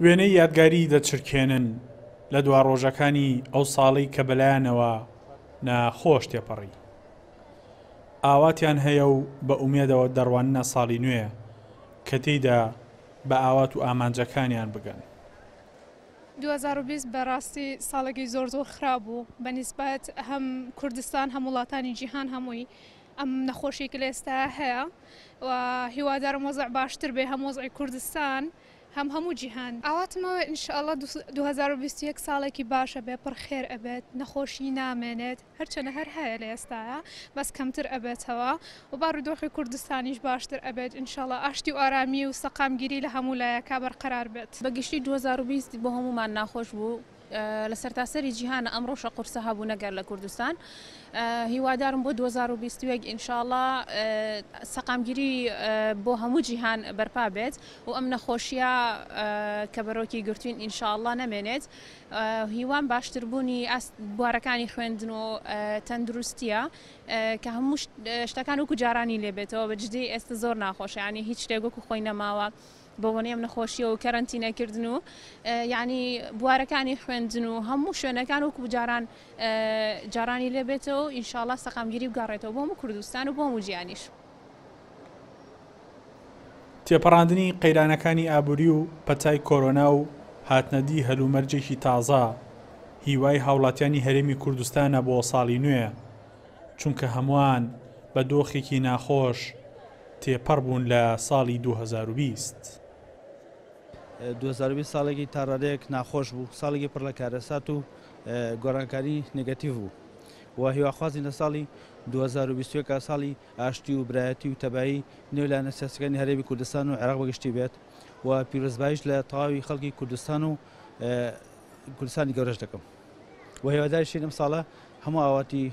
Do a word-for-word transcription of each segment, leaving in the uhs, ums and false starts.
وێنەی یادگاری دەچرکێنن لە دوا ڕۆژەکانی ئەو ساڵەی کە بەلایانەوە ناخۆش تێپەڕی. ئاواتیان هەیە و بە ئومێدەوە دەڕواننە ساڵی نوێ کە تێیدا بە ئاوات و ئامانجەکانیان بگەن. دوو هەزار و بیست بەڕاستی ساڵێکی زۆر زۆر خراپ بوو بە نیسبەت هەم کوردستان هەم وڵاتانی جیهان هەمووی ئەم نەخۆشی کە لە ئێستا هەیە و هیوادارم وەزع باشتر بێ، هەم وەزعی کوردستان هەم هەموو جیهان. ئاواتمەوە ئینشاءڵڵا دوو هەزار و بیست و یەک ساڵێکی باشە بێ، پڕ خێر ئەبێت، نەخۆشی نامێنێت، هەرچەنە هەر هەیە لە ئێستاە بەس کەمتر ئەبێتەوە و بارودۆخی کوردستانیش باشتر ئەبێت ئینشاءڵڵا، ئاشتی و ئارامی و سەقامگیری لە هەموو لایەکا بەرقەرار بێت. بە گشتی دوو هەزار و بیست بۆ هەمومان ناخۆش بوو، لە سەرتاسەری جیهانە ئەم ڕۆژە قورسە هەبوو نەگەر لە کوردستان. هیوادارم بۆ دوو هەزار و بیست و یەک ئینشاءڵڵا سەقامگیری بۆ هەموو جیهان بەرپا بێت و ئەم نەخۆشیە کە بەرۆکی گرتوین ئینشاءڵڵا نەمێنێت. هیوام باشتربوونی بوارەکانی خوێندن و تەندروستیە کە هەموو شتەکان وەکو جارانی لێبێتەوە. بە جدی ئێستا زۆر ناخۆشە، یعنی هیچ شتێک وەکو خۆی نەماوە بۆ بۆنەی ئەم نەخۆشیە و کەرەنتینەکردن و یعنی بوارەکانی خوێندن و هەموو شوێنەکان وەکو جاران جارانی لێبێتەوە و ئینشاءڵڵا سەقامگیری بگەڕێتەوە بۆ هەموو کوردستان و بۆ هەموو جیهانیش. تێپەڕاندنی قەیرانەکانی ئابووری و پەتای کۆرۆنا و هاتنەدی هەلومەرجێکی تازە هیوای هاوڵاتیانی هەرێمی کوردستانە بۆ ساڵی نوێ، چونکە هەمووان بە دۆخێکی ناخۆش تێپەڕ بوون لە ساڵی دوو هەزار و بیست. دوو هەزار و بیست ساڵێکی تاڕادەیەک ناخۆش بوو، ساڵێکی پڕ لە کارەسات و گۆڕانکاری نێگەتیڤ بوو و هیواخوازین لە ساڵی دوو هەزار و بیست و یەک ساڵی ئاشتی و برایەتی و تەبایی نێو لایەنە سیاسەکانی هەرێمی کوردستان و عێراق بەگشتی بێت و پیرۆزباییش لە تەواوی خەڵکی کوردستان و کوردستانی گەورەش دەکەم و هیواداریشین ئەم ساڵە هەموو ئاواتی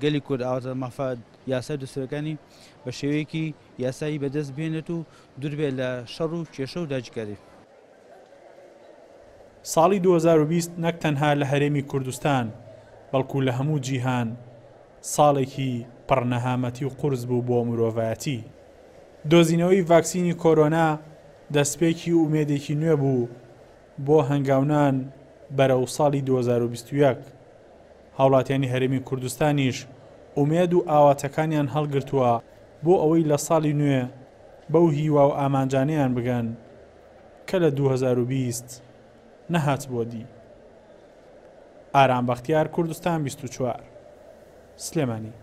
گەلی کورد ئاواتە مافە یاسای دەستوورەکانی بە شێوەیەکی یاسایی بەدەست بێنێت و دوور بێت لە شەڕ و کێشە و داگیرکاری. ساڵی دوو هەزار و بیست نەک تەنها لە هەرێمی کوردستان بەڵکو لە هەموو جیهان ساڵێکی پڕ نەهامەتی و قورس بوو بۆ مرۆڤایەتی. دۆزینەوەی ڤاکسینی کۆرۆنا دەستپێکی ئومێدێکی نوێ بوو بۆ هەنگاونان بەرەو ساڵی دوو هەزار و بیست و یەک. هاوڵاتیانی هەرێمی کوردستانیش ئومێد و ئاواتەکانیان هەڵگرتووە بۆ ئەوەی لە ساڵی نوێ بەو هیوا و ئامانجانەیان بگەن کە لە دوو هەزار و بیست نەهات بۆ دی. ئارام بەختیار، کوردستان بیست و چوار، سلێمانی.